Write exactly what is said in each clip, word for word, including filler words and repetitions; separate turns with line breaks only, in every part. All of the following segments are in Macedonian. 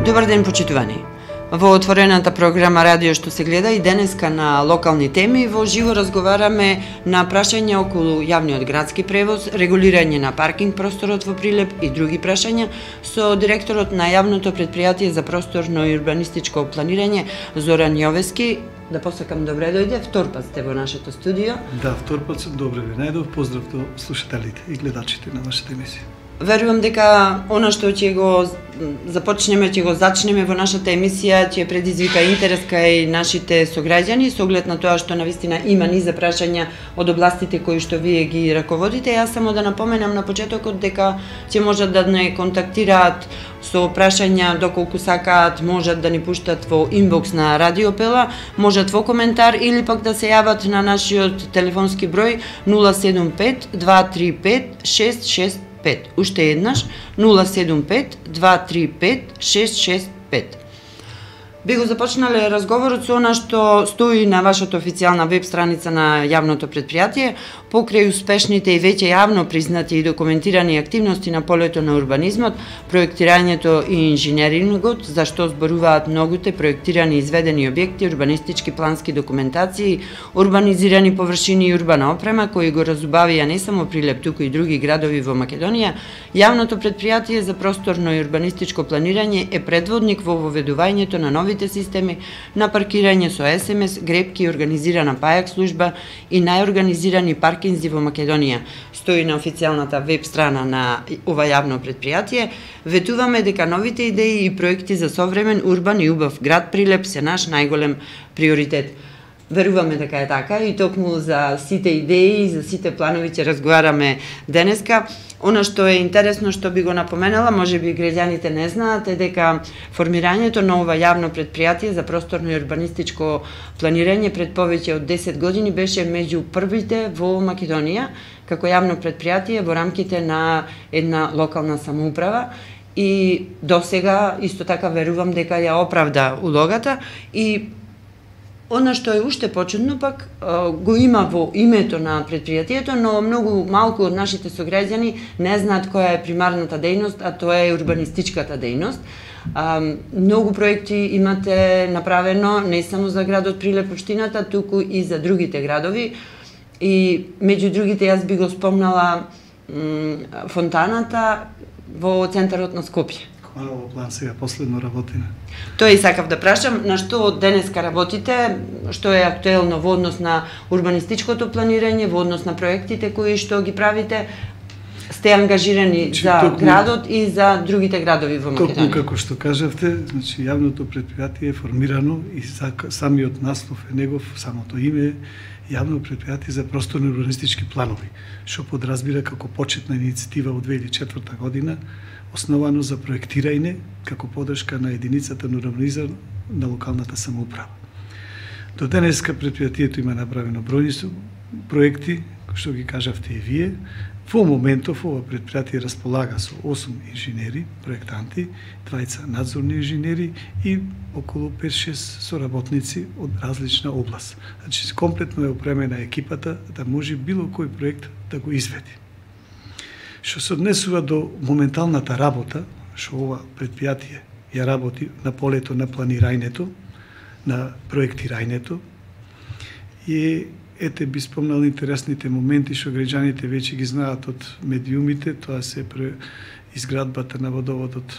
Добар ден, почитувани. Во отворената програма Радио што се гледа и денеска на локални теми во живо разговараме на прашања околу јавниот градски превоз, регулирање на паркинг просторот во Прилеп и други прашања со директорот на јавното предпријатие за просторно и урбанистичко планирање Зоран Јовески. Да посакам добре дојде, втор пат сте во нашето студио.
Да, втор пат сум, добре ви најдов, поздрав до слушателите и гледачите на вашата емисија.
Верувам дека она што ќе го започнеме, ќе го зачнеме во нашата емисија, ќе предизвика интерес кај нашите сограѓани, со оглед на тоа што навистина има низа прашања од областите кои што вие ги раководите. Јас само да напоменам на почетокот дека ќе можат да не контактираат со прашања доколку сакаат, можат да ни пуштат во инбокс на Радио Пела, можат во коментар или пак да се јават на нашиот телефонски број нула седум пет два три пет шест шест пет. Уште еднаш нула седум пет два три пет шест шест пет. Би го започнале разговорот со она што стои на вашата официјална веб страница на јавното предпријатие, покрај успешните и веќе јавно признати и документирани активности на полето на урбанизмот, проектирањето и инженерингот, за што зборуваат многуте проектирани и изведени објекти, урбанистички плански документации, урбанизирани површини и урбана опрема, кои го разубавија не само Прилеп, туку и други градови во Македонија, јавното предпријатие за просторно и урбанистичко планирање е предводник во воведувањето на нови системи на паркирање со ес ем ес, грепки, организирана пајак служба и најорганизирани паркинзи во Македонија. Стои на официјалната веб страна на ова јавно предпријатие. Ветуваме дека новите идеи и проекти за современ, урбан и убав град Прилеп се наш најголем приоритет. Веруваме дека е така и токму за сите идеи и за сите планови ќе разговараме денеска. Она што е интересно што би го напоменала, може би граѓаните не знаат, е дека формирањето на ова јавно предпријатие за просторно и урбанистичко планирање пред повеќе од десет години беше меѓу првите во Македонија како јавно предпријатие во рамките на една локална самоуправа. И досега исто така верувам дека ја оправда улогата и она што е уште почудно пак го има во името на предпријатието, но многу малку од нашите сограѓани не знаат која е примарната дејност, а тоа е урбанистичката дејност. Многу проекти имате направено не само за градот Прилеп општината, туку и за другите градови. И меѓу другите јас би го спомнала фонтаната во центарот на Скопје.
Хвала план сега последно работиме.
Тоа и сакав да прашам, на што денеска работите, што е актуелно во однос на урбанистичкото планирање, во однос на проектите кои што ги правите, сте ангажирани значи, за токму, градот и за другите градови во Македонија.
Токму како што кажавте, значи јавното предпријатие е формирано и самиот наслов е негов, самото име е јавно предпријатие за просторни урбанистички планови, што подразбира како почетна иницијатива од две илјади и четврта година, основано за проектирање како подршка на единицата на урбанизам на локалната самоуправа. До денеска предпријатието има направено бројни проекти, што ги кажавте и вие. Во моментов ова предпријатие располага со осум инженери, проектанти, двајца надзорни инженери и околу пет-шест соработници од различна област. Значи, комплетно е опремена екипата да може било кој проект да го изведи. Што се однесува до моменталната работа, што ова предпријатие ја работи на полето на планирањето, на проектирањето, и ете би спомнал интересните моменти што граѓаните веќе ги знаат од медиумите, тоа се пре изградбата на водоводот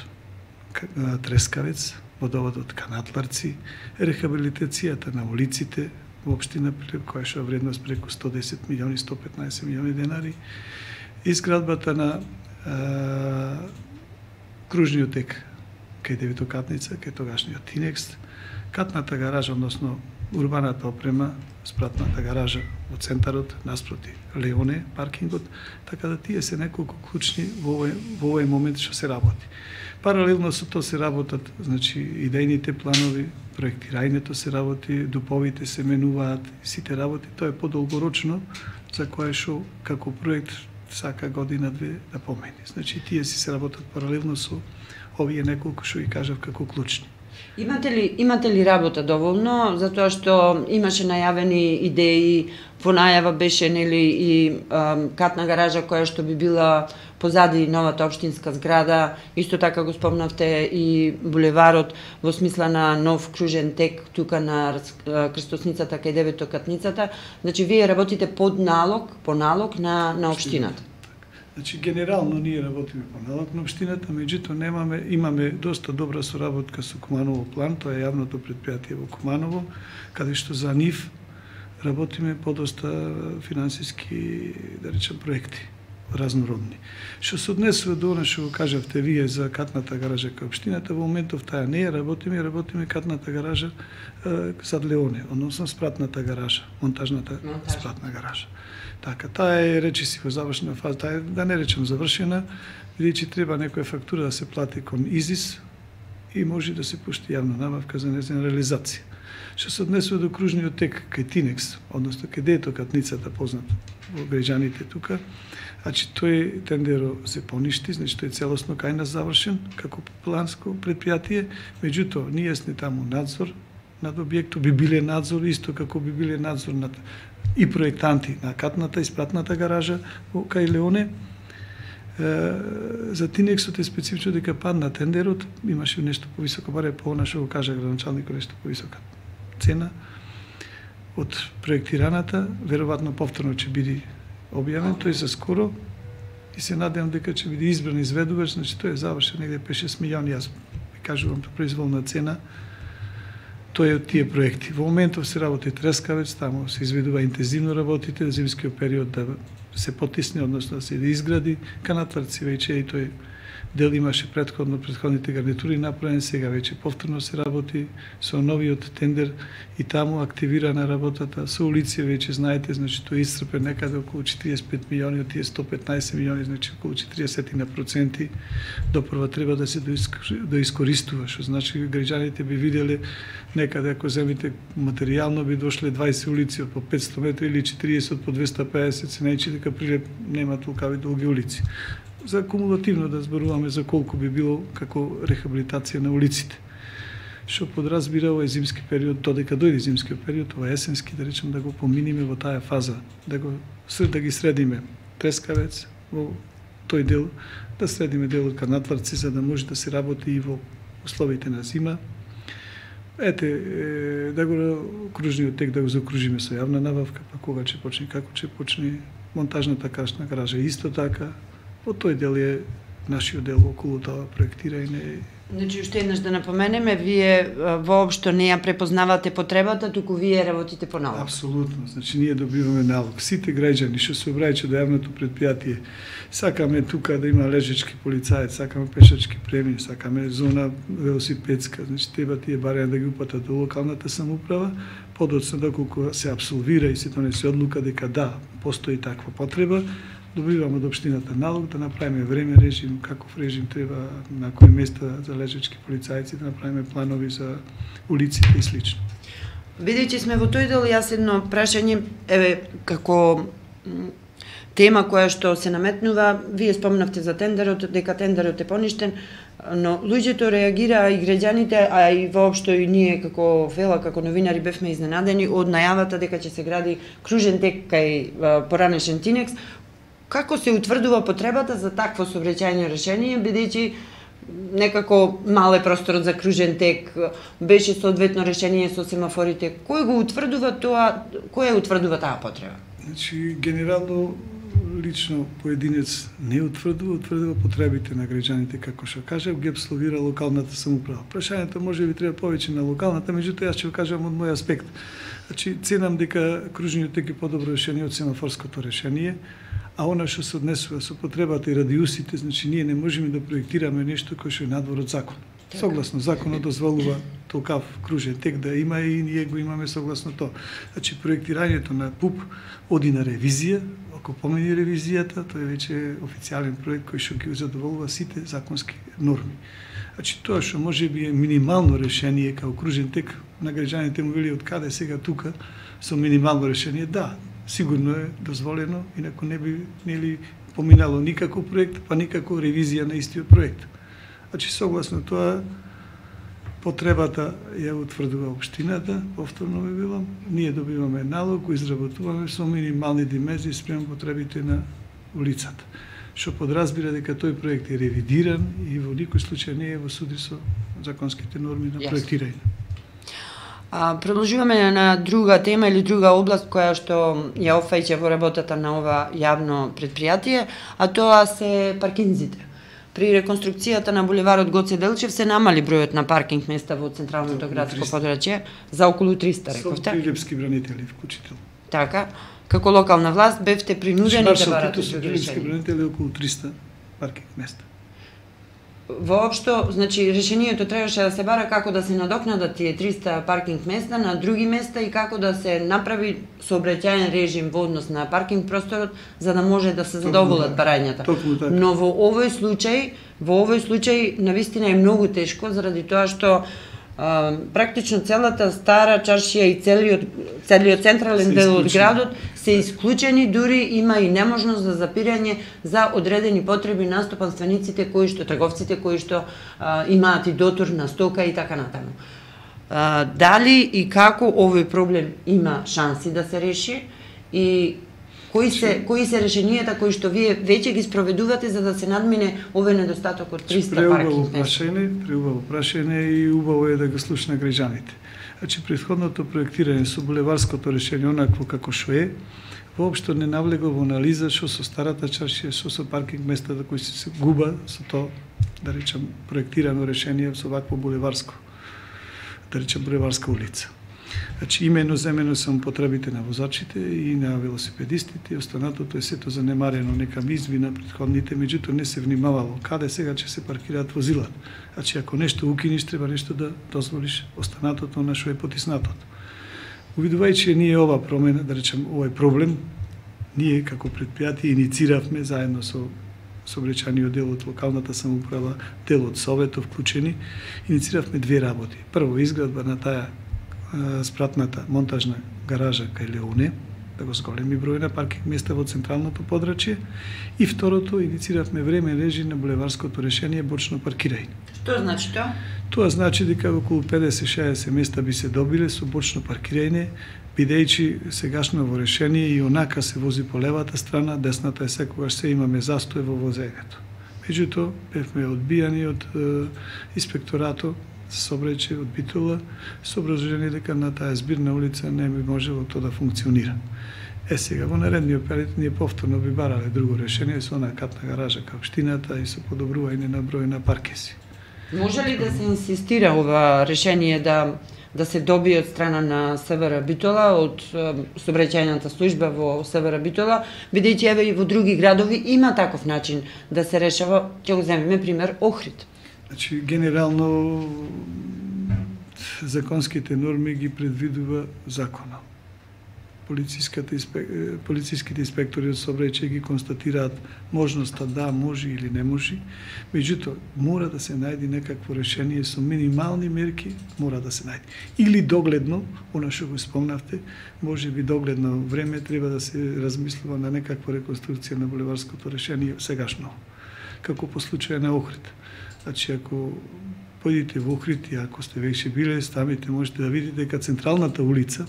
Трескавец, водоводот Канатларци, рехабилитацијата на улиците во општина Прилеп, која што е вредност преку сто десет милиони, сто петнаесет милиони денари, изградбата на а, кружниот тек кај Деветокатница, кај тогашниот Тинекс, катната гаража, односно урбаната опрема, спратната гаража во центарот, наспроти Леоне, паркингот, така да тие се неколку клучни во овој, во овој момент што се работи. Паралелно со тоа се работат, значи, идејните планови, проектирањето се работи, дуповите се менуваат, сите работи, тоа е подолгорочно, за кое што како проект сака година-две да помени. Значи, тие си се работат паралелно со овие неколку што ги кажав како клучни.
Имате ли, имате ли работа доволно, затоа што имаше најавени идеи, во најава беше нели и а, катна гаража која што би била позади новата општинска зграда, исто така го спомнавте и булеварот во смисла на нов кружен тек тука на крстосницата кај Деветокатницата. Значи вие работите под налог, по налог на на општината.
Значи, генерално ние работиме по налог на општината, меѓутоа немаме, имаме доста добра соработка со Куманово план, тоа е јавното предпријатие во Куманово, каде што за нив работиме по доста финансиски, да речем, проекти разнородни. Што се однесува до она што го кажавте вие за катната гаража кај општината, во моментов таа не ја работиме, работиме катната гаража зад Леоне, односно спратната гаража, монтажната Монтаж. спратна гаража. Така, таа е речиси во завршена фаза, таа е, да не речем завршена, бидејќи треба некоја фактура да се плати кон ИЗИС и може да се пушти јавна набавка за нејзина реализација. Што се однесува до кружниот тек кај Тинекс, односно кај Деветокатницата, познат во граѓаните тука, значи тој тендеро се поништи, значи тој е целосно кај нас завршен како планско предпријатие, меѓутоа ние сме таму надзор над објектот, би биле надзор исто како би биле надзор над и проектанти на катната и спратната гаража кај Леоне. За Тинексот е специфично дека падна тендерот, имаше нешто повисоко, баре по она што го кажа градоначалникот, нешто повисока цена од проектираната, веројатно повторно ќе биде објавен, тој за скоро и се надевам дека ќе биде избран изведувач, значи тој е завршен негде пет-шест милиони, јас ви кажувам произволна цена. Тој е од тие проекти. Во моментов се работи Трескавец, таму се изведува интензивно работите, да зимскиот период да се потисне, односно да се да изгради. Канатларци веќе и тој дел имаше претходно, претходните гарнитури направен, сега веќе повторно се работи со новиот тендер и таму активирана работата со улици, веќе знаете, значи тој е исцрпен некаде околу четириесет и пет милиони, од тие сто петнаесет милиони, значи околу четириесет на проценти допрва треба да се доискористува, што значи граѓаните би виделе некаде ако земите материјално би дошле дваесет улици од по петсто метри или четириесет од по двеста педесет, се најчи дека Прилеп нема толкави долги улици. За кумулативно да зборуваме за колку би било како рехабилитација на улиците. Што подразбира овој зимски период, додека дојде зимскиот период, ова есенски, да речем, да го поминиме во таа фаза, да го да ги средиме Трескавец во тој дел, да средиме делот Канатларци, за да може да се работи и во условите на зима. Ете, да го кружниот тек да го закружиме со јавна набавка, па кога ќе почне, како ќе почне монтажната кашна гаража, исто така. По тој дел е нашиот дел околу тоа проектирање.
Значи, уште еднаш да напоменеме, вие воопшто не ја препознавате потребата, туку вие работите по налог.
Апсолутно, значи ние добиваме налог. Сите граѓани што се обраќаат до јавното предпријатие, сакаме тука да има лежачки полицаец, сакаме пешачки премии, сакаме зона велосипедска, значи треба тие барања да ги упатат до локалната самоуправа, подоцна доколку се апсолвира и се донесе одлука дека да, постои таква потреба, добиваме од општината налог да направиме време режим, каков режим треба на кои места за лежачки полицајци, да направиме планови за улиците и слично.
Бидејќи сме во тој дел, јас едно прашање, еве, како тема која што се наметнува, вие спомнавте за тендерот, дека тендерот е поништен, но луѓето реагираа и граѓаните, а и воопшто и ние како Фела, како новинари бевме изненадени од најавата дека ќе се гради кружен тек кај поранешен Тинекс. Како се утврдува потребата за такво сообраќајно решение, бидејќи некако мал е просторот за кружен тек, беше соодветно решение со семафорите. Кој го утврдува тоа, кој ја утврдува таа потреба?
Значи, генерално, лично поединец не утврдува, утврдува потребите на граѓаните, како што кажав, ги абсолвира локалната самоуправа. Прашањето може би треба повеќе на локалната, меѓутоа јас ќе го кажам од мој аспект. Значи, ценам дека кружниот тек е подобро решение од семафорското решение, а она што се однесува со потребата и радиусите, значи ние не можеме да проектираме нешто кој што е надвор од закон. Согласно законот дозволува толкав кружен тек да има и ние го имаме согласно тоа. Значи проектирањето на ПУП оди на ревизија, ако помени ревизијата, тоа е веќе официјален проект кој што ги задоволува сите законски норми. Значи тоа што може би е минимално решение како кружен тек, на граѓаните му вели од каде сега тука со минимално решение, да, сигурно е дозволено, инаку не би нели поминало никако проект, па никако ревизија на истиот проект. Значи, согласно тоа, Потребата ја утврдува општината, повторно ме билам, ние добиваме налог, го изработуваме со минимални димензии спрема потребите на улицата. Што подразбира дека тој проект е ревидиран и во никој случај не е во суди со законските норми на проектирање.
А, продолжуваме на друга тема или друга област која што ја офаќа во работата на ова јавно предпријатие, а тоа се паркинзите. При реконструкцијата на булеварот Гоце Делчев се намали бројот на паркинг места во централното градско подрачје за околу триста, рековте.
Со прилепски бранители вклучително.
Така, како локална власт бевте принудени да барате
други решенија. Прилепски бранители околу триста паркинг места.
Воопшто, значи, решението требаше да се бара како да се надокнадат тие триста паркинг места на други места и како да се направи сообраќајен режим во однос на паркинг просторот за да може да се задоволат барањата. Но во овој случај, во овој случај навистина е многу тешко заради тоа што а, практично целата стара чаршија и целиот целиот централен дел од градот се исклучени, дури има и неможност за запирање за одредени потреби наступанствениците кои што трговците кои што а, имаат и дотур на стока и така натаму. А, дали и како овој проблем има шанси да се реши и кои се кои се решенијата кои што вие веќе ги спроведувате за да се надмине овој недостаток од триста паркинг места?
Преубаво прашање и убаво е да го слушна граѓаните. Значи, претходното проектирање со булеварското решение онакво како што е, воопшто не навлегува во анализа што со старата чаршија, што со паркинг местата кои се губа со тоа, да речам, проектирано решение со вакво булеварско, да речам, булеварска улица. Значи, имено земено само потребите на возачите и на велосипедистите, и останатото е сето занемарено, нека изби на претходните, меѓутоа не се внимавало каде сега ќе се паркираат возилата. Значи, ако нешто укиниш, треба нешто да дозволиш, останатото на што е потиснатото. Увидувајќи ние ова промена, да речем, овој проблем, ние како предпријатие иницииравме заедно со сообраќајниот дел од локалната самоуправа, дел од советот вклучени, иницииравме две работи. Прво, изградба на таа спратната монтажна гаража кај Леоне, да го зголеми број на паркинг места во централното подрачје, и второто, иницииравме времен режим на булеварското решение бочно паркирање.
Што значи тоа?
Тоа значи дека околу педесет до шеесет места би се добиле со бочно паркирање, бидејќи сегашно во решение и онака се вози по левата страна, десната е секогаш се имаме застој во возењето. Меѓутоа, бевме одбијани од е, инспекторато сообраќај од Битола, со образложение дека на таа збирна улица не би можело тоа да функционира. Е, сега, во наредниот период ние повторно би барале друго решение со онаа катна гаража кај општината и со подобрување на број на паркеси.
Може ли да се инсистира ова решение да да се добие од страна на СВР Битола, од сообраќајната служба во СВР Битола, бидејќи еве и во други градови има таков начин да се решава, ќе го земеме пример Охрид.
Значи, генерално законските норми ги предвидува закона. Полициските, инспек... полициските инспектори од сообраќај ги констатираат можноста да може или не може, меѓутоа мора да се најде некакво решение со минимални мерки, мора да се најде. Или догледно, она што го спомнавте, може би догледно време треба да се размислува на некаква реконструкција на булеварското решение сегашно, како по случај на Охрид. Значи, ако појдете во Охрид и ако сте веќе биле, ставите, можете да видите дека централната улица,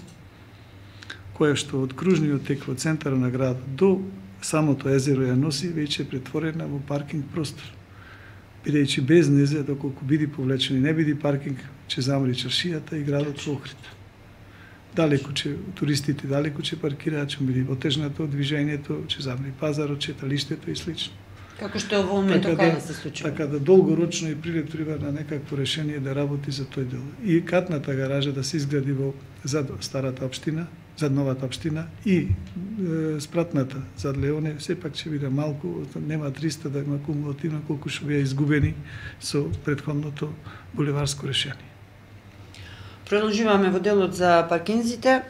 која што од кружниот тек во центарот на градот до самото езеро ја носи, веќе е претворена во паркинг простор. Бидејќи без незе, доколку биде повлечен и не биде паркинг, ќе замри чаршијата и градот во Охрид. Далеку ќе туристите далеку ќе паркираат, ќе биде отежнато движењето, ќе замри пазарот, читалиштето и слично.
Како што во моментот кај да се случува.
Така да долгорочно и прилеп треба на некакво решение да работи за тој дел. И катната гаража да се изгради во зад старата општина, зад новата општина и е, спратната зад Леоне, сепак ќе биде малку, нема триста да има кумулативно колку што беа изгубени со претходното булеварско решение.
Продолжуваме во делот за паркинзите.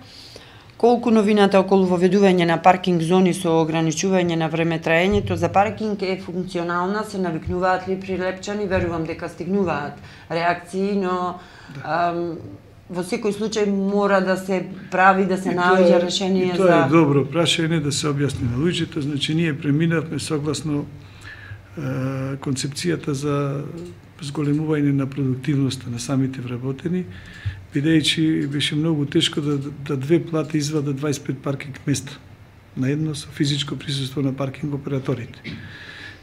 Колку новината околу воведување на паркинг зони со ограничување на времетраењето за паркинг е функционална, се навикнуваат ли прилепчани, верувам дека стигнуваат реакции, но да. ам, во секој случај мора да се прави, да се наоѓа решение за...
Тоа е добро прашање да се објасни на луѓето, значи ние преминавме согласно е, концепцијата за зголемување на продуктивноста на самите вработени, бидејќи беше многу тешко да, да две плати извадат дваесет и пет паркинг места на едно со физичко присуство на паркинг операторите.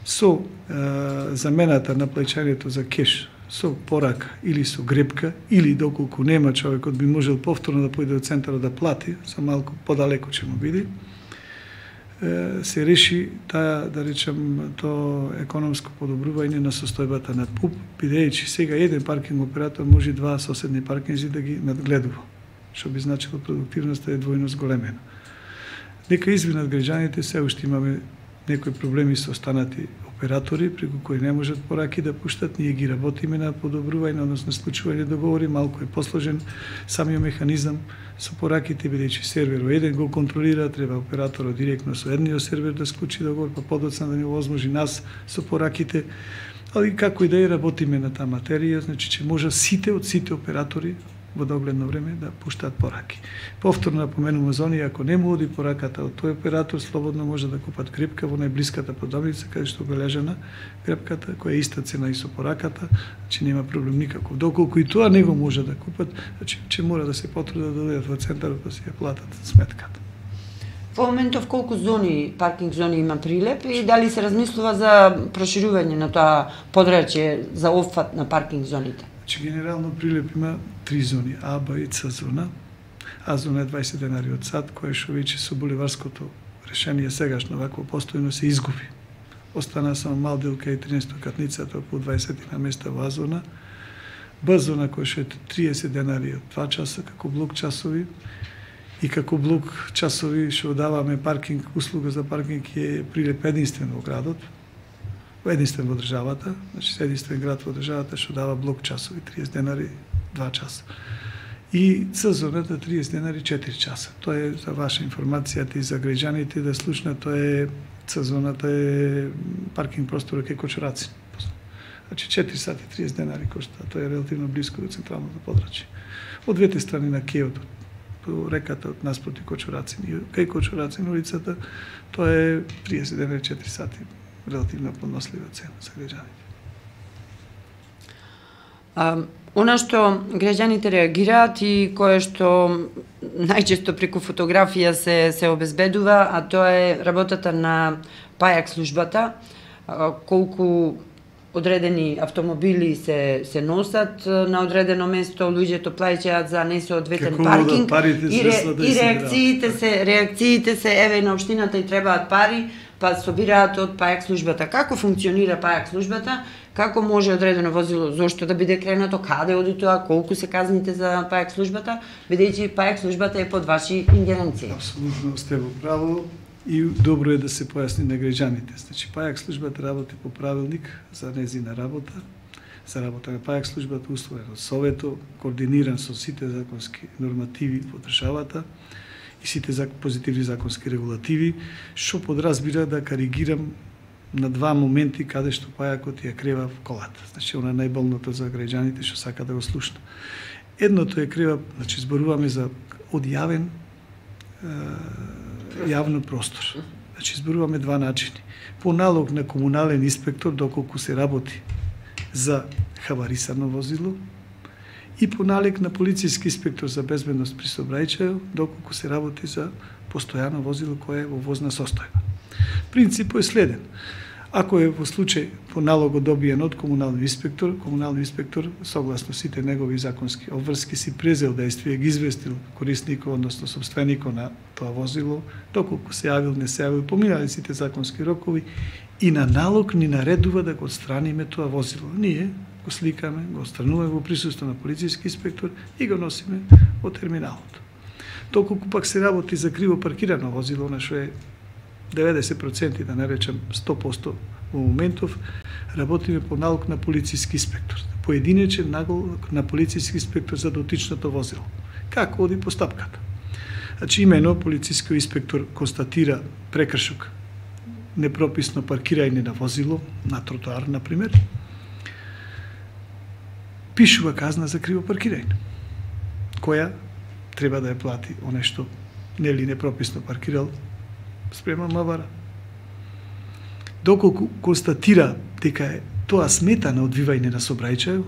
Со е, замената на плаќањето за кеш со порака или со гребка, или доколку нема човекот би можел повторно да појде од центарот да плати, со малку подалеку ќе му биде, се реши таа, да речем, то економско подобрување на состојбата на ПУП, бидејќи сега еден паркинг оператор може два соседни паркинзи да ги надгледува, што би значило продуктивноста е двојно зголемена. Нека извинат граѓаните, се уште имаме некои проблеми со останати оператори, преку кои не можат пораки да пуштат, ние ги работиме на подобрување, односно склучување договори, малку е посложен самиот механизам со пораките, бидејќи серверот еден го контролира, треба операторот директно со едниот сервер да склучи договор, па подоцна да ни овозможи нас со пораките, али како и да е работиме на таа материја, значи че може сите од сите оператори во догледно време да пуштаат пораки. Повторно напоменувам за оние, ако не му оди пораката од тој оператор, слободно може да купат гребка во најблиската продавница, каде што обележана гребката, која е иста цена и со пораката, значи нема проблем никаков. Доколку и тоа не го може да купат, значи че мора да се потрудат да дојдат во центарот да си ја платат сметката.
Во моментов колку зони, паркинг зони има Прилеп и дали се размислува за проширување на тоа подрачје за опфат на паркинг зоните?
Значи, генерално Прилеп има три зони, А, Б и Ц зона. А зона е дваесет денари од сат, која што веќе со буливарското решение сегашно вакво постојано се изгуби. Остана само Малделка и тринаесеттокатницата околу дваесет на места во А зона. Б зона која што е триесет денари од два часа како блок часови и како блок часови што даваме паркинг, услуга за паркинг е Прилеп единствен во градот, единствен во државата, значи единствен град во државата што дава блок часови, триесет денари два часа. И Ц зоната триесет денари четири часа. Тоа е за ваша информацијата и за граѓаните да слушнат, тоа е Ц зоната е паркинг просторот кај Кочурацин. Значи четири сати триесет денари кошта, тоа е релативно близко до централното подрачје. Од двете страни на кејот, по реката од наспроти Кочурацин и кај Кочурацин улицата, тоа е триесет денари четири сати. Релативно поднослива цена за граѓаните.
А, она што граѓаните реагираат и кое што најчесто преку фотографија се се обезбедува, а тоа е работата на пајак службата, а, колку одредени автомобили се се носат на одредено место, луѓето плаќаат за несоодветен паркинг и, ре, и реакциите се реакциите се еве на општината и требаат пари, па собираат од пајак службата. Како функционира пајак службата? Како може одредено возило, зошто да биде кренато, каде оди тоа, колку се казните за пајак службата, бидејќи пајак службата е под ваши ингеренции?
Апсолутно сте во право и добро е да се појасни на граѓаните. Значи пајак службата работи по правилник за незина работа, за работа на пајак службата условен од Совето, координиран со сите законски нормативи во државата и сите позитивни законски регулативи, што подразбира да каригирам на два моменти каде што пајакот ја крева в колата. Значи, она е најболното за граѓаните што сака да го слушна. Едното е крева, значи, зборуваме за одјавен е, јавно простор. Значи, зборуваме два начини. По налог на комунален инспектор, доколку се работи за хаварисано возило, и по налог на полицијски инспектор за безбедност при сообраќајот, доколку се работи за постојано возило кое е во возна состојба. Принципот е следен. Ако е во случај по налог добиен од комунални инспектор, комунални инспектор, согласно сите негови законски обврски, си презел действие, ги известил корисникот, односно собственикот на тоа возило, доколку се јавил, не се јавил, поминали сите законски рокови и на налог ни наредува да го отстраниме тоа возило. Ние го сликаме, го отстрануваме во присуство на полицијски инспектор и го носиме во терминалот. Доколку пак се работи за криво паркирано возило, на што е деветдесет проценти, да не речем сто проценти во моментов, работиме по налог на полицијски инспектор. Поединечен налог на полицијски инспектор за дотичното возило. Како оди постапката? Значи, имено, полицијскиот инспектор констатира прекршок, непрописно паркирање на возило, на тротоар, например, пишува казна за криво паркирање, која треба да ја плати оне што нели непрописно паркирал спрема МВР. Доколку констатира дека тоа смета на одвивање на сообраќај,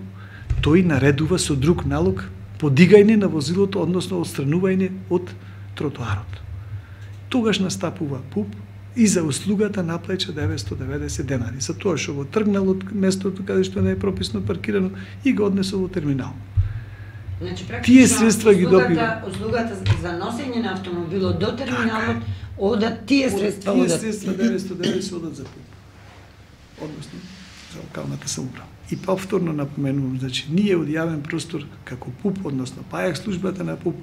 тој наредува со друг налог подигање на возилото, односно отстранување од тротоарот. Тогаш настапува ПУП и за услугата наплаќа деветстотини и деветдесет денари, за тоа што го тргнал од местото каде што не е прописно паркирано и го однесол во терминал.
Значи,
тие средства ги
добива. Услугата за носење на автомобилот до терминалот, одат тие средства,
тие
одат.
Тие средства деветстотини и деветдесет одат за ПУП, односно за локалната самоуправа. И повторно напоменувам, значи, ние од јавен простор, како ПУП, односно ПАЈАК службата на ПУП,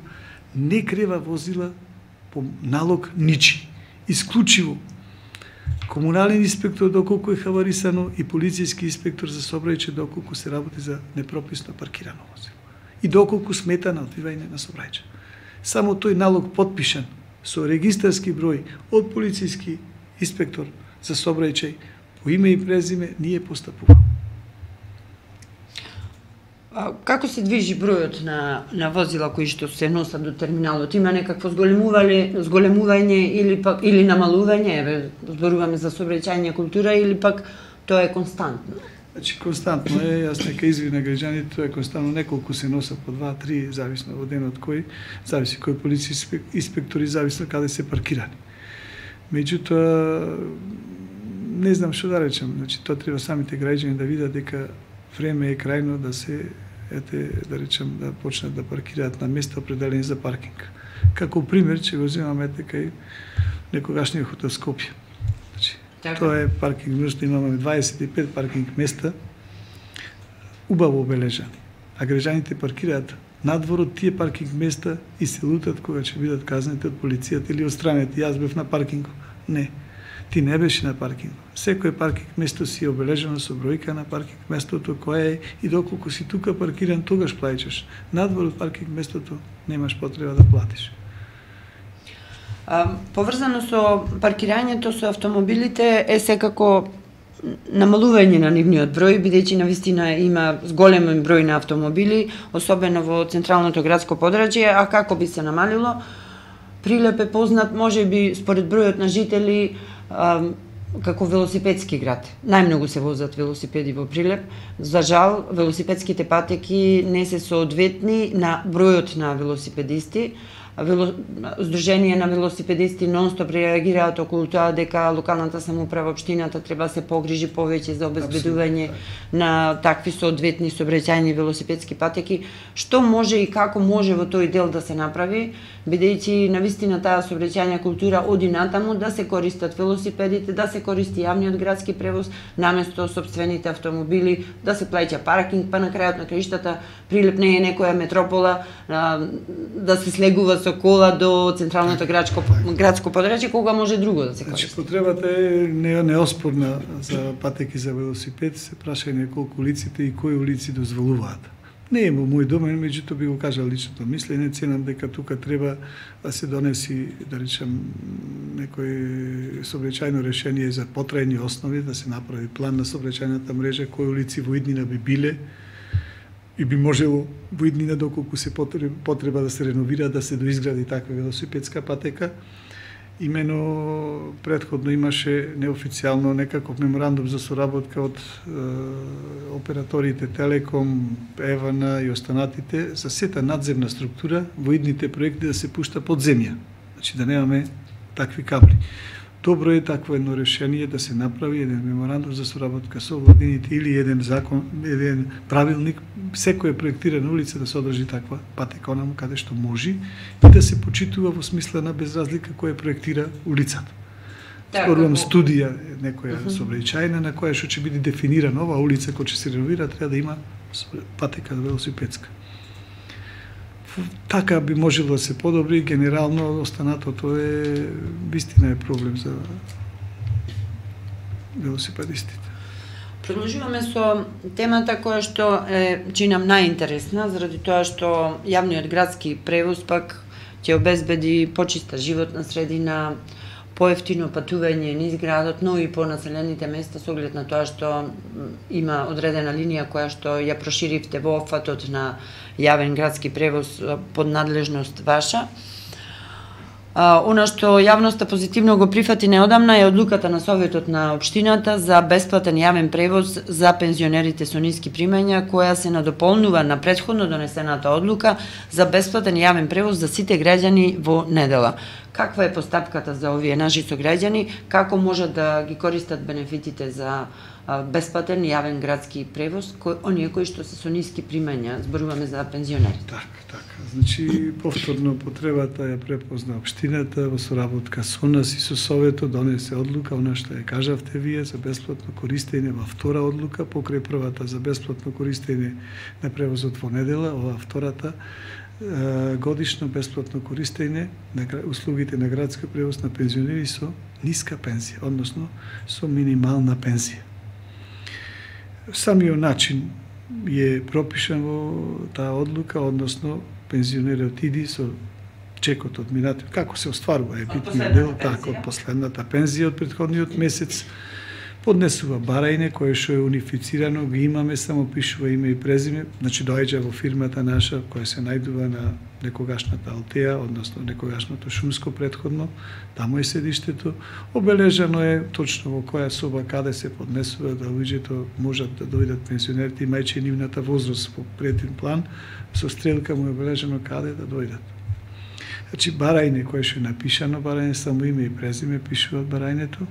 не крева возила по налог ничи. Исклучиво комунален инспектор доколку е хаварисано и полицијски инспектор за сообраќај доколку се работи за непрописно паркирано возило. И доколку смета на одвивање на сообраќај. Само тој налог подпишан со регистарски број од полицијски инспектор за сообраќај по име и презиме ние постапува.
А како се движи бројот на на возила кои што се носат до терминалот? Има некакво зголемување, зголемување или пак или намалување, еве зборуваме за сообраќајна култура, или пак тоа е константно?
Значи константно е, јас нека извина граѓаните, тоа е константно, неколку се носат по два, три, зависно од денот кој, зависи кој полицијски инспектори, зависно каде се паркирани. Меѓутоа не знам што да речам, значи тоа треба самите граѓани да видат дека време е крајно да се, ете, да речем, да почнат да паркираат на места определени за паркинг. Како пример, че го земаме ете кај некогашниот хотел Скопје. Значи, така. Тоа е паркинг место, имаме дваесет и пет паркинг места, убаво обележани. А граѓаните паркираат надвор од тие паркинг места и се лутат кога ќе бидат казнети од полицијата или отстранети. Јас бев на паркингот. Не. Ти не беше на паркинг. Секој паркинг место си е обележено со бројка на паркинг местото која е и доколку си тука паркиран, тогаш плаќаш. Надвор од паркинг местото немаш потреба да платиш.
А, поврзано со паркирањето со автомобилите е секако намалување на нивниот број, бидејќи навистина има зголемен број на автомобили, особено во централното градско подрачје, а како би се намалило? Прилеп е познат, може би, според бројот на жители, а, како велосипедски град. Најмногу се возат велосипеди во Прилеп. За жал, велосипедските патеки не се соодветни на бројот на велосипедисти. Вело... Сдружение на велосипедисти нон-стоп реагираат околу тоа дека локалната самоуправа, општината треба да се погрижи повеќе за обезбедување на такви соодветни сообраќајни велосипедски патеки. Што може и како може во тој дел да се направи, бидејќи навистина таа сообраќајна култура оди натаму да се користат велосипедите, да се користи јавниот градски превоз наместо сопствените автомобили, да се плаќа паркинг, па на крајот на краиштата Прилеп не е некоја метропола, да се слегува со кола до централното градско градско подрачје, кога може друго да се користи.
Значи потребата е не неоспорна за патеки за велосипед, се прашање колку улиците и кои улици дозволуваат. Не е во мој домен, меѓутоа би го кажал личното мислење, ценам дека тука треба да се донеси, да речем, некој сообраќајно решение за потрајни основи, да се направи план на сообраќајната мрежа, кои улици во иднина би биле и би можело во иднина доколку се потреба да се реновира, да се доизгради таква велосипедска патека. Имено претходно имаше неофицијално некаков меморандум за соработка од е, операторите Телеком, Евана и останатите за сета надземна структура во идните проекти да се пушта под земја. Значи да немаме такви кабли. Добро е такво едно решение да се направи еден меморандум за соработка со владините или еден закон, еден правилник, секоја проектирана улица да се одржи таква патека онаму каде што може и да се почитува во смисла на без разлика кој проектира улицата. Спорувам студија некоја uh -huh. сообраќајна на која што ќе биде дефинирана ова улица која ќе се реновира, треба да има патека велосипедска. Така би можело да се подобри, генерално останатото е вистина е проблем за велосипедистите.
Продолжуваме со темата која што е чинам најинтересна, заради тоа што јавниот градски превоз пак ќе обезбеди почиста животна средина, поевтино патување низ градот, но и по населените места со оглед на тоа што има одредена линија која што ја проширивте во опфатот на јавен градски превоз под надлежност ваша. А, она што јавноста позитивно го прифати неодамна е одлуката на Советот на општината за бесплатен јавен превоз за пензионерите со ниски примања, која се надополнува на претходно донесената одлука за бесплатен јавен превоз за сите граѓани во недела. Каква е постапката за овие наши сограѓани? Како можат да ги користат бенефитите за бесплатен јавен градски превоз, кој, оние кои што се со ниски примања, зборуваме за пензионерите?
Така, така. Значи, повторно потребата ја препозна општината во соработка со нас и со Советот, донесе одлука, она што ја кажавте вие, за бесплатно користење во втора одлука, покрај првата за бесплатно користење на превозот во недела, ова втората годишно бесплатно користење на услугите на градски превоз на пензионери со ниска пензија, односно со минимална пензија. Самиот начин е пропишан во таа одлука, односно пензионерот иди со чекот од минатиот, како се остварува е битниот дел, така од последната пензија од претходниот месец, поднесува барајне кое што е унифицирано, ги имаме, само пишува име и презиме, значи доаѓа во фирмата наша која се најдува на некогашната Алтеа, односно некогашното Шумско претходно, таму е седиштето, обележано е точно во која соба каде се поднесува да луѓето можат да дојдат пензионерите, имајќи нивната возраст во преден план, со стрелка му е обележено каде да дојдат. Значи барајне кое што е напишано, барајне само име и презиме пишува барајнето,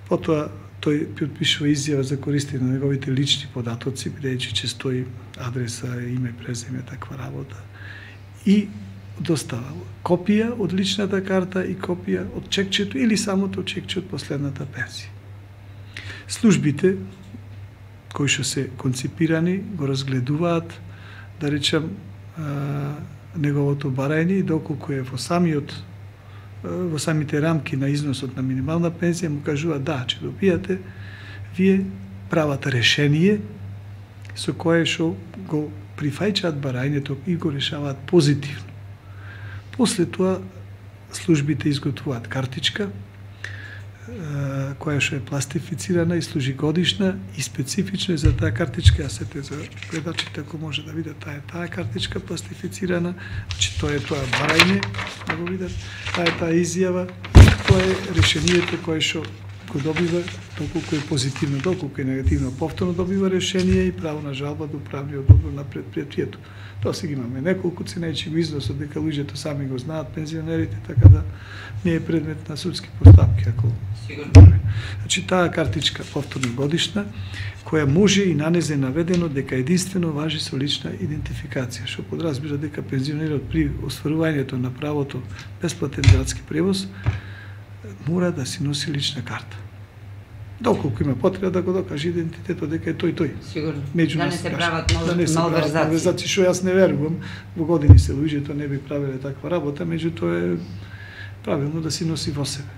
потоа тој подпишува изјава за користење на неговите лични податоци, бидејќи ќе стои адреса, име, презиме, таква работа. И достава копија од личната карта и копија од чекчето или самото чекче од последната пензија. Службите кои што се конципирани го разгледуваат, да речем, неговото барање и доколку е во самиот во самите рамки на износот на минимална пензија, му кажува да, че добијате вие правата решение со кое што го прифајчаат барањето и го решаваат позитивно. После тоа службите изготвуваат картичка која што е пластифицирана и служи годишна и специфично за таа картичка, а сете за гледачите ако може да видат таа таа картичка пластифицирана, значи тоа е тоа барање, да го видат, таа е таа изјава, тоа е решението кое што го добива, доколку е позитивно, доколку е негативно, повторно добива решение и право на жалба до управниот одбор на предпријатието. Тоа сега имаме неколку ценајчи го износот, дека луѓето сами го знаат, пензионерите, така да не е предмет на судски постапки, ако
Сигурно.
Значи таа картичка повторно годишна, која може и на незе наведено дека единствено важи со лична идентификација, што подразбира дека пензионерот при остварувањето на правото бесплатен градски превоз мора да си носи лична карта. Доколку има потреба да го докаже идентитетот дека е тој тој.
Сигурно.
Меѓу
да
нас
не се
каже.
прават
Да не се прават
малверзации.
малверзации, што јас не верувам. Во години се луѓето не би правеле таква работа, меѓутоа е правилно да си носи во себе.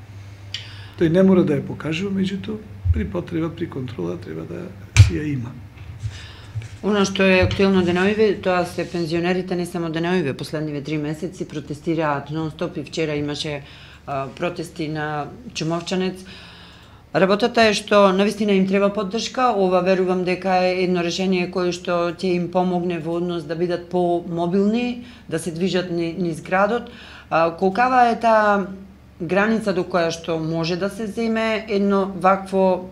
Тој не мора да ја покажува, меѓутоа при потреба, при контрола треба да си ја има.
Она што е актуелно деновиве, тоа се пензионерите не само деновиве, последниве три месеци протестираат нон-стоп и вчера имаше а, протести на Чумовчанец. Работата е што навистина им треба поддршка, ова верувам дека е едно решение кое што ќе им помогне во однос да бидат по-мобилни, да се движат низ градот. А, колкава е таа граница до која што може да се земе едно вакво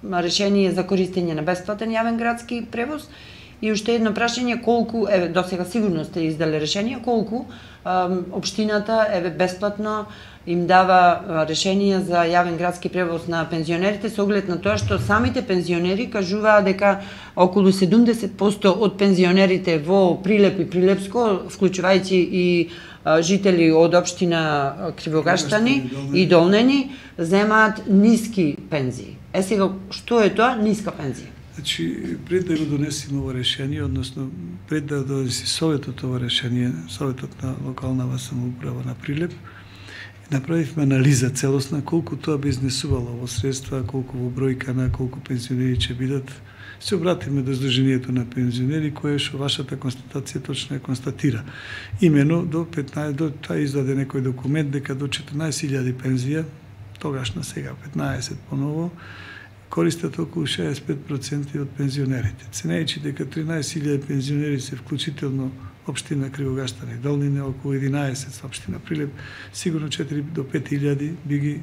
решение за користење на бесплатен јавен градски превоз? И уште едно прашање, колку, еве, досега сигурно сте издале решение, колку ем, општината, еве, бесплатно им дава решение за јавен градски превоз на пензионерите, со оглед на тоа што самите пензионери кажуваат дека околу седумдесет проценти од пензионерите во Прилеп и Прилепско, вклучувајќи и а, жители од општина Кривогаштани и Долнени, земаат ниски пензии. Е сега, што е тоа ниска пензија?
Значи, пред да го донесеме ова решение, односно пред да донеси Советот ова решение, Советот на локална самоуправа на Прилеп, направивме анализа целосна колку тоа би изнесувало во средства, колку во бројка на колку пензионери ќе бидат. Се обратиме до Сдруженијето на пензионери, кое што вашата констатација точно ја констатира. Имено до петнаесет, до таа издаде некој документ дека до четрнаесет илјади пензија, тогаш на сега петнаесет поново, користат околу шеесет и пет проценти од пензионерите. Ценејќи дека тринаесет илјади пензионери се вклучително општина Кривогаштани Долнине, околу единаесет општина Прилеп, сигурно четири до пет илјади би ги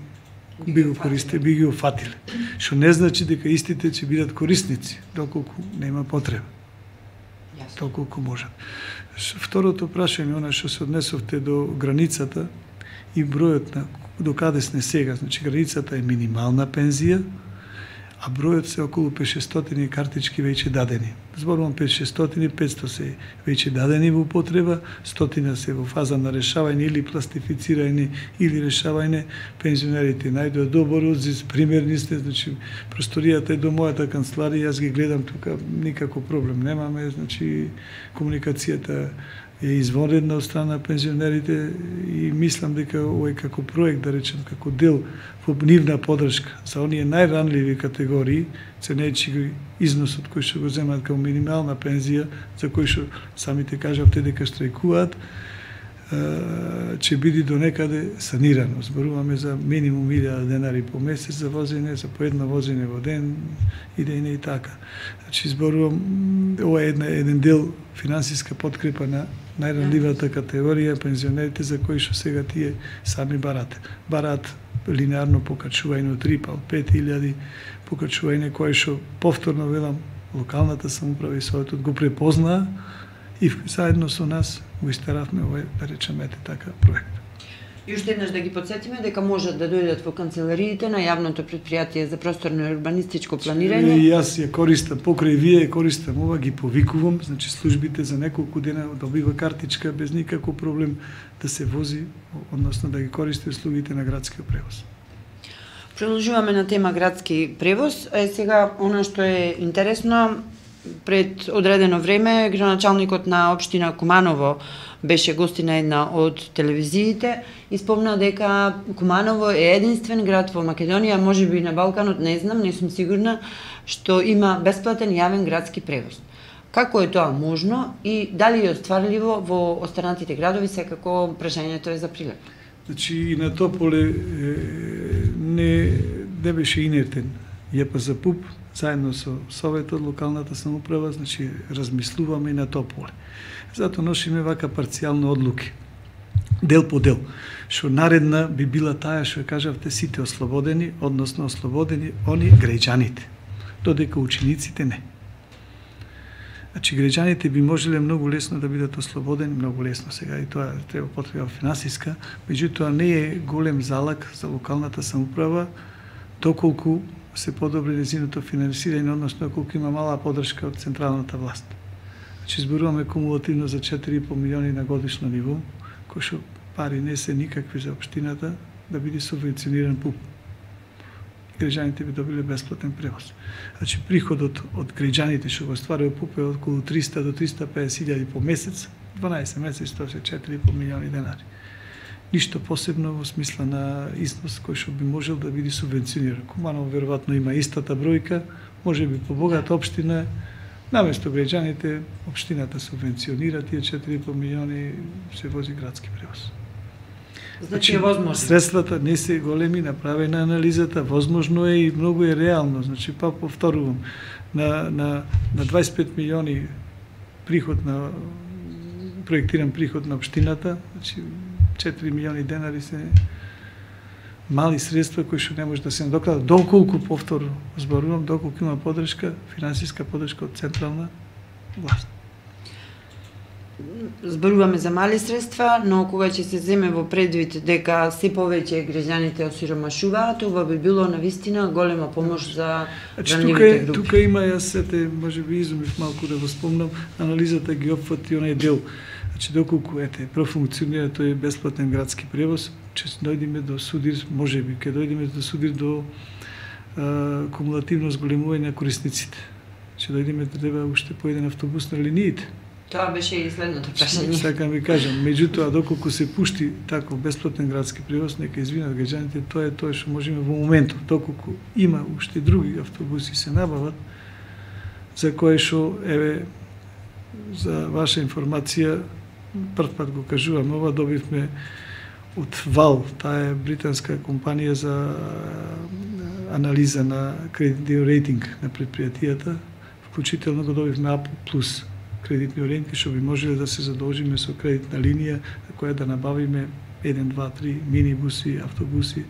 би го користе, би ги офатиле. Што не значи дека истите ќе бидат корисници, доколку нема потреба. Толколку можат. Второто прашање, она што се однесовте до границата и бројот на до каде сме сега, значи границата е минимална пензија, а бројот се околу петстотини картички веќе дадени. Зборувам петстотини, петсто се веќе дадени во употреба, стотина се во фаза на решавање или пластифицирање или решавање. Пензионерите најдоа добар одзив, примерни сте, значи просторијата е до мојата канцеларија, јас ги гледам тука, никако проблем немаме, значи комуникацијата е извонредна од страна на пензионерите и мислам дека овој како проект, да речем, како дел во нивна подршка за оние најранливи категории, ценејќи го износот кој што го земат како минимална пензија, за кој што самите кажавте дека штрајкуваат, ќе биде до некаде санирано. Зборуваме за минимум илјада денари по месец за возење, за по едно возење во ден, и да и не и така. Значи, зборувам, ова е една, еден дел финансиска подкрепа на најранливата категорија, пензионерите за кои што сега тие сами барате. Барат линеарно покачување од три па од пет илјади, покачување кое што повторно велам локалната самоуправа и советот го препознаа и заедно со нас го истеравме овој, да речеме, така проект.
И уште еднаш да ги подсетиме дека можат да дојдат во канцелариите на јавното претпријатие за просторно и урбанистичко планирање.
И јас ја користам, покрај вие користам ова, ги повикувам, значи службите за неколку дена добива картичка без никаков проблем да се вози, односно да ги користи услугите на градскиот превоз.
Продолжуваме на тема градски превоз. Е, сега, она што е интересно, пред одредено време градоначалникот на општина Куманово беше гости на една од телевизиите и спомна дека Куманово е единствен град во Македонија, можеби и на Балканот, не знам, не сум сигурна, што има бесплатен јавен градски превоз. Како е тоа можно и дали е остварливо во останатите градови, секако прашањето е за Прилеп?
Значи и на Тополе не, не беше инертен ЈПЗ-ПУП, заедно со Советот, локалната самоуправа, значи размислуваме и на Тополе. Затоа носиме вака парцијални одлуки, дел по дел, што наредна би била таа што кажавте сите ослободени, односно ослободени они граѓаните, додека учениците не. Значи граѓаните би можеле многу лесно да бидат ослободени, многу лесно сега и тоа треба потреба финансиска, меѓутоа не е голем залак за локалната самоуправа доколку се подобри незиното финансирање, односно колку има мала подршка од централната власт. Значи зборуваме кумулативно за четири и по милиони на годишно ниво, кои што пари не се никакви за општината да биде субвенциониран ПУП. Граѓаните би добиле бесплатен превоз. Значи приходот од граѓаните што го стварува ПУП е околу триста до триста и песет илјади по месец, дванаесет месеци тоа се четири и по милиони денари. Ништо посебно во смисла на износ кој што би можел да биде субвенциониран. Куманово веројатно има истата бројка, може би по богата општина, наместо граѓаните, општината субвенционира тие четири и по милиони, се вози градски превоз.
Значи е возможно.
Средствата не се големи, направена анализата, возможно е и многу е реално. Значи, па повторувам, на, на, на дваесет и пет милиони приход на проектиран приход на општината, значи четири милиони денари се мали средства кои што не може да се надокнадат, доколку повторно зборувам, доколку има подршка, финансиска подршка од централна власт.
Зборуваме за мали средства, но кога ќе се земе во предвид дека се повеќе граѓаните осиромашуваат, ова би било навистина голема помош за ранливите групи.
Тука има, јас сете, може би изумив малку да го спомнам, анализата ги опфати онај дел. Значи, доколку ете, профункционира тој бесплатен градски превоз, ќе дојдеме до судир, може би, ќе дојдеме до судир до а, кумулативно зголемување на корисниците. Ќе дојдеме да треба уште по еден автобус на линиите.
Тоа беше и следното прашање.
Така ми кажам, меѓутоа доколку се пушти таков бесплатен градски превоз, нека извинат граѓаните, тоа е тоа што можеме во моментот. Доколку има уште други автобуси се набават, за кое што еве за ваша информација прв пат го кажувам, ова добивме од Вал, таа е британска компанија за анализа на кредитниот рейтинг на предпријатијата, вклучително го добивме А плюс кредитни рейтинг, што би можеле да се задолжиме со кредитна линија, на која да набавиме еден, два, три минибуси, автобуси,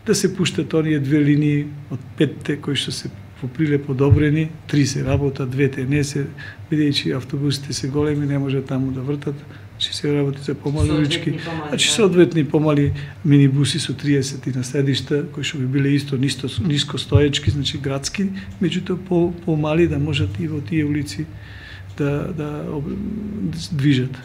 да се пуштат оние две линии од петте кои што се поприле подобрени, три се работат, двете не се, бидејќи автобусите се големи, не може таму да вртат, значи се работи за помали улички, значи соодветни помали минибуси со триесет на седишта, кои што би биле исто нисто, ниско стоечки, значи градски, меѓутоа по, помали да можат и во тие улици да, да, да движат.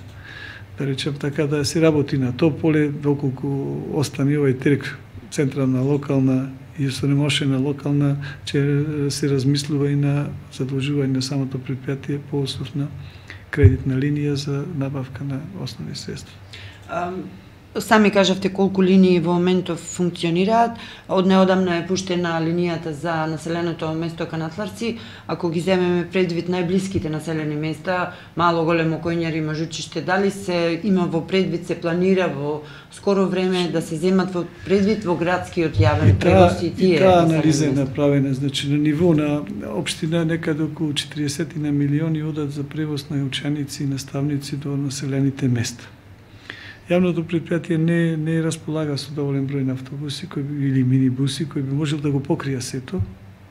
Да речем така, да се работи на то поле, доколку остане овој трг централна, локална и осонемошена локална, че се размислува и на задолжување на самото предпријатие по основ на кредитна линија за набавка на основни средства.
Сами кажавте колку линии во моментов функционираат. Од неодамна е пуштена линијата за населеното место Канатларци. Ако ги земеме предвид најблиските населени места, Мало, Големо, Коњари, Мажучиште, дали се има во предвид, се планира во скоро време да се земат во предвид во градскиот јавен превоз и тие?
И таа анализа е направена, значи на ниво на општина некаде околу четириесет милиони одат за превоз на ученици и наставници до населените места. Јавното предпријатие не не располага со доволен број на автобуси кои или минибуси кои би можел да го покрија сето.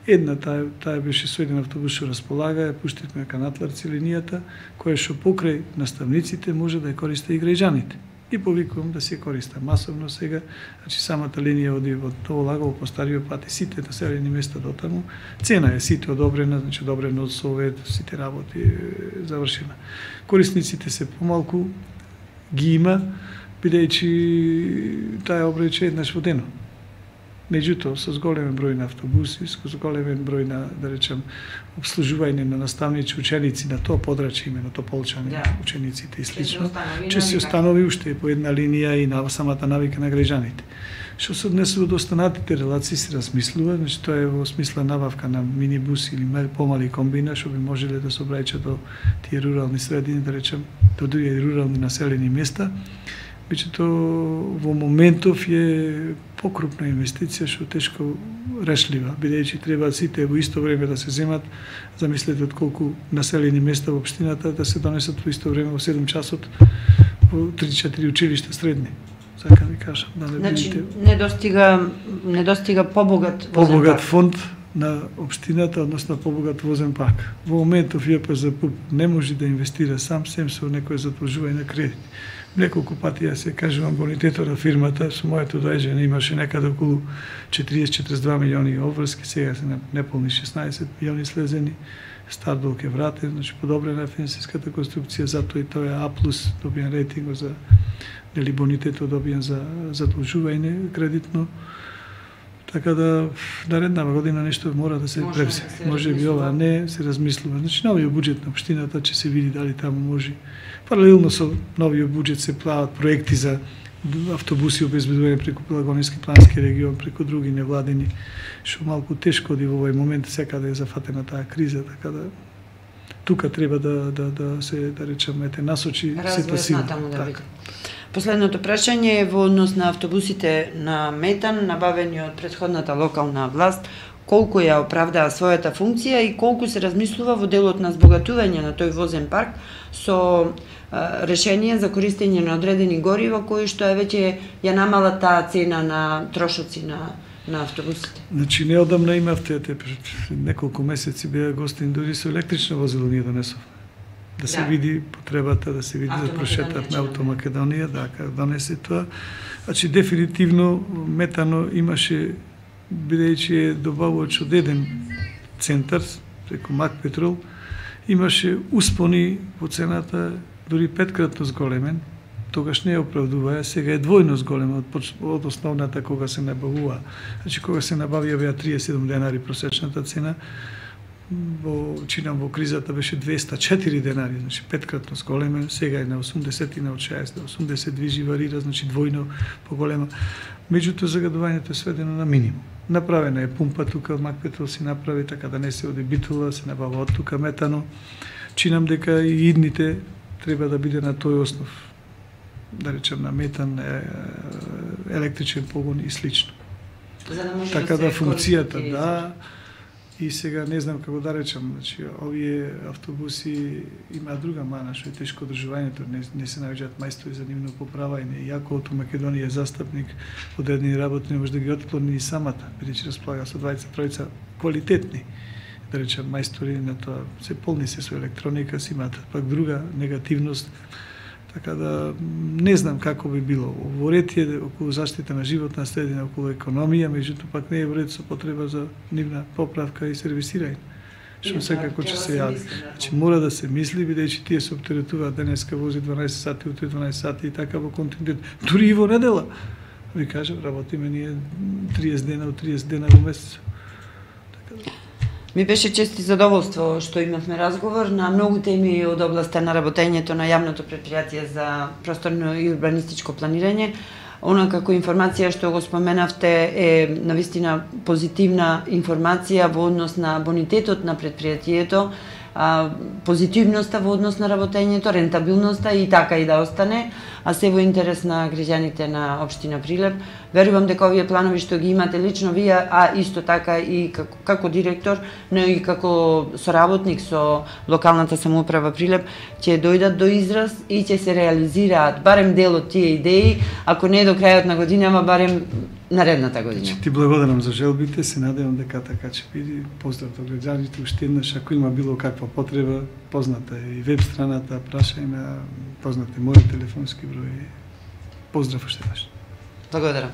Една таа таа беше со еден автобус што располага, ја пуштивме Канатларци линијата, која што покрај наставниците може да ја користи и граѓаните. И повикувам да се користа масовно сега, значи самата линија оди од Толагово по стариот пат и сите населени места до таму. Цена е сите одобрена, значи одобрено од Совет, сите работи завршена. Корисниците се помалку ги има, бидејќи таа обраќа еднаш во денот. Меѓутоа, со зголемен број на автобуси, со зголемен број на, да речем, обслужување на наставници, ученици на тоа подрачје, именно Тополчани, да, учениците и слично, че се установи уште по една линија и на самата навика на граѓаните. Што се однесува до останатите релации се размислува, значи тоа е во смисла набавка на минибуси или помали комбина, што би можеле да се обраќа до тие рурални средини, да речем, до други рурални населени места. Меѓутоа, во моментов е покрупна инвестиција што тешко решлива, бидејќи треба сите во исто време да се земат. Замислете од колку населени места во општината да се донесат во исто време во седум часот во три-четири училишта средни. Сакам ви кажам, да не
значи,
видите.
не достига не достига побогат
побогат фонд на општината, односно побогат возен парк. Во моментов ЈПЗПУ не може да инвестира сам сем со некој задолжување на кредит. Неколку пати ја се кажувам бонитетот на фирмата, со моето доаѓање имаше некаде околу четириесет до четириесет и два милиони обврски, сега се неполни шеснаесет милиони слезени, стар долг е вратен, значи подобрена е финансиската конструкција, затоа и тоа е А плюс добиен рейтинг за дали бонитетот добиен за задолжување кредитно. Така да наредна година нешто мора да се превзе. Може би ова не се размислува. Значи новиот буџет на општината ќе се види дали таму може. Паралелно со новиот буџет се плават проекти за автобуси обезбедување преку Пелагонски плански регион, преку други невладени, што малку тешко оди во овој момент секаде е зафатена таа криза, така да тука треба да да да се да речеме те насочи сето сила.
Да. Последното прашање е во однос на автобусите на метан, набавени од претходната локална власт, колку ја оправдаа својата функција и колку се размислува во делот на збогатување на тој возен парк со а, решение за користење на одредени горива, кои што е веќе ја намала таа цена на трошоци на на автобусите.
Значи неодамна имавте неколку месеци беа гостин дури со електрично возило ние донесовме. Да се да. види потребата, да се види да прошетат на Автомакедонија, да, кога донесе тоа. Значи, дефинитивно, метано имаше, бидејќи е добавувач од еден центар, преку Макпетрол, имаше успони во цената, дури петкратно зголемен, тогаш не ја оправдуваа, сега е двојно зголема од, од основната кога се набавува. Значи, кога се набавија беа триесет и седум денари просечната цена, во чинам во кризата беше двеста и четири денари, значи петкратно зголемен, сега е на осумдесет и на од шеесет до осумдесет движи варира, значи двојно поголема. Меѓутоа загадувањето е сведено на минимум. Направена е пумпа тука, Макпетрол си направи така да не се оди битула, се набава од тука метано. Чинам дека и идните треба да биде на тој основ, да речем на метан, електричен погон и слично.
За да може
така
да,
да функцијата,
користи,
да. И сега не знам како да речам, значи овие автобуси има друга мана, што е тешко одржувањето, не, не се наоѓаат мајстори за нивно поправање. Јако од Македонија е застапник, одредени работи не може да ги отклони и самата, бидејќи располага со двајца тројца квалитетни, да речем мајстори на тоа, се полни се со електроника, си имаат пак друга негативност. Така да не знам како би било. Во ред е околу заштита на животна средина, околу економија, меѓутоа пак не е во ред со потреба за нивна поправка и сервисирање. Што секако ќе се јави. Значи мора да се мисли, бидејќи тие се оптеретуваат денеска вози дванаесет сати, утре дванаесет сати и така во континуитет. Дури и во недела. Ви кажам, работиме ние триесет дена, од триесет дена во месец. Така да.
Ми беше чест и задоволство што имавме разговор на многу теми од областа на работењето на јавното претпријатие за просторно и урбанистичко планирање. Она како информација што го споменавте е навистина позитивна информација во однос на бонитетот на претпријатието, позитивноста во однос на работењето, рентабилноста и така и да остане, а се во интерес на граѓаните на општина Прилеп. Верувам дека овие планови што ги имате лично вие, а исто така и како, како директор, но и како соработник со локалната самоуправа Прилеп, ќе дојдат до израз и ќе се реализираат барем дел од тие идеи, ако не до крајот на годинава, барем наредната година.
Ти благодарам за желбите, се надевам дека така ќе биде. Поздрав до граѓаните, уште еднаш, ако има било каква потреба, позната е и веб страната, прашај на, позната е мој телефонски број. Поздрав уште еднаш.
Благодарам.